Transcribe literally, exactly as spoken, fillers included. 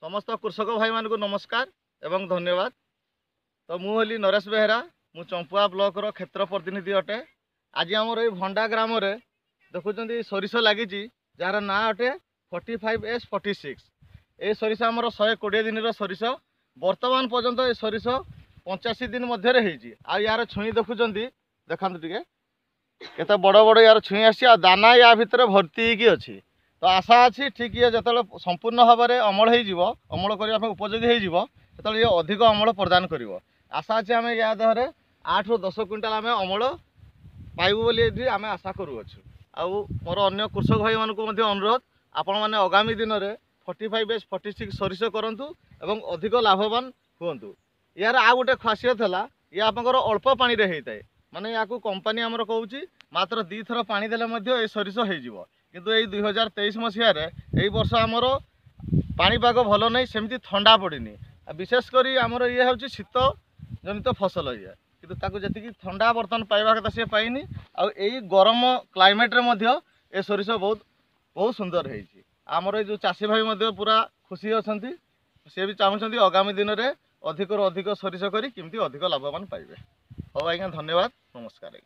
ସମସ୍ତ କୃଷକ ଭାଇମାନଙ୍କୁ ନମସ୍କାର ଏବଂ ଧନ୍ୟବାଦ। ତ ମୁଁ ହେଲି ନରେଶ ବେହେରା, ମୁଁ ଚମ୍ପୁଆ ବ୍ଲକର କ୍ଷେତ୍ର ପ୍ରତିନିଧି ଅଟେ। ଆଜି ଆମର ଏଇ ଭଣ୍ଡା ଗ୍ରାମରେ ଦେଖୁଛନ୍ତି ସୋରିଷ ଲାଗିଛି, ଯାହାର ନାଁ ଅଟେ forty five S forty six. ଏ ସୋରିଷ ଆମର ଶହେ କୋଡ଼ିଏ ଦିନର ସୋରିଷ। ବର୍ତ୍ତମାନ ପର୍ଯ୍ୟନ୍ତ ଏ ସୋରିଷ ପଞ୍ଚାଅଶୀ ଦିନ ମଧ୍ୟରେ ହେଇଛି। ଆଉ ୟାର ଛୁଇଁ ଦେଖୁଛନ୍ତି, ଦେଖାନ୍ତୁ ଟିକେ କେତେ ବଡ଼ ବଡ଼ ୟାର ଛୁଇଁ ଆସିଛି, ଆଉ ଦାନା ୟା ଭିତରେ ଭର୍ତ୍ତି ହେଇକି ଅଛି। ତ ଆଶା ଅଛି ଠିକ୍ ଇଏ ଯେତେବେଳେ ସମ୍ପୂର୍ଣ୍ଣ ଭାବରେ ଅମଳ ହେଇଯିବ, ଅମଳ କରିବା ପାଇଁ ଉପଯୋଗୀ ହେଇଯିବ, ସେତେବେଳେ ଇଏ ଅଧିକ ଅମଳ ପ୍ରଦାନ କରିବ। ଆଶା ଅଛି ଆମେ ୟା ଦେହରେ ଆଠରୁ ଦଶ କୁଇଣ୍ଟାଲ ଆମେ ଅମଳ ପାଇବୁ ବୋଲି ଏଠି ଆମେ ଆଶା କରୁଅଛୁ। ଆଉ ମୋର ଅନ୍ୟ କୃଷକ ଭାଇମାନଙ୍କୁ ମଧ୍ୟ ଅନୁରୋଧ, ଆପଣମାନେ ଆଗାମୀ ଦିନରେ forty five S forty six ସୋରିଷ କରନ୍ତୁ ଏବଂ ଅଧିକ ଲାଭବାନ ହୁଅନ୍ତୁ। ଏହାର ଆଉ ଗୋଟେ ଖାସିୟତ ହେଲା, ଇଏ ଆପଣଙ୍କର ଅଳ୍ପ ପାଣିରେ ହେଇଥାଏ। ମାନେ ୟାକୁ କମ୍ପାନୀ ଆମର କହୁଛି ମାତ୍ର ଦୁଇଥର ପାଣି ଦେଲେ ମଧ୍ୟ ଏ ସୋରିଷ ହେଇଯିବ। କିନ୍ତୁ ଏଇ ଦୁଇ ହଜାର ତେଇଶ ମସିହାରେ ଏଇ ବର୍ଷ ଆମର ପାଣିପାଗ ଭଲ ନାହିଁ, ସେମିତି ଥଣ୍ଡା ପଡ଼ିନି। ଆଉ ବିଶେଷ କରି ଆମର ଇଏ ହେଉଛି ଶୀତ ଜନିତ ଫସଲ ଇଏ, କିନ୍ତୁ ତାକୁ ଯେତିକି ଥଣ୍ଡା ବର୍ତ୍ତମାନ ପାଇବା କଥା ସିଏ ପାଇନି। ଆଉ ଏଇ ଗରମ କ୍ଲାଇମେଟ୍ରେ ମଧ୍ୟ ଏ ସୋରିଷ ବହୁତ ବହୁତ ସୁନ୍ଦର ହେଇଛି। ଆମର ଏଇ ଯେଉଁ ଚାଷୀ ଭାଇ ମଧ୍ୟ ପୁରା ଖୁସି ଅଛନ୍ତି। ସିଏ ବି ଚାହୁଁଛନ୍ତି ଆଗାମୀ ଦିନରେ ଅଧିକରୁ ଅଧିକ ସୋରିଷ କରି କେମିତି ଅଧିକ ଲାଭବାନ ପାଇବେ। ହଉ ଆଜ୍ଞା, ଧନ୍ୟବାଦ, ନମସ୍କାର ଆଜ୍ଞା।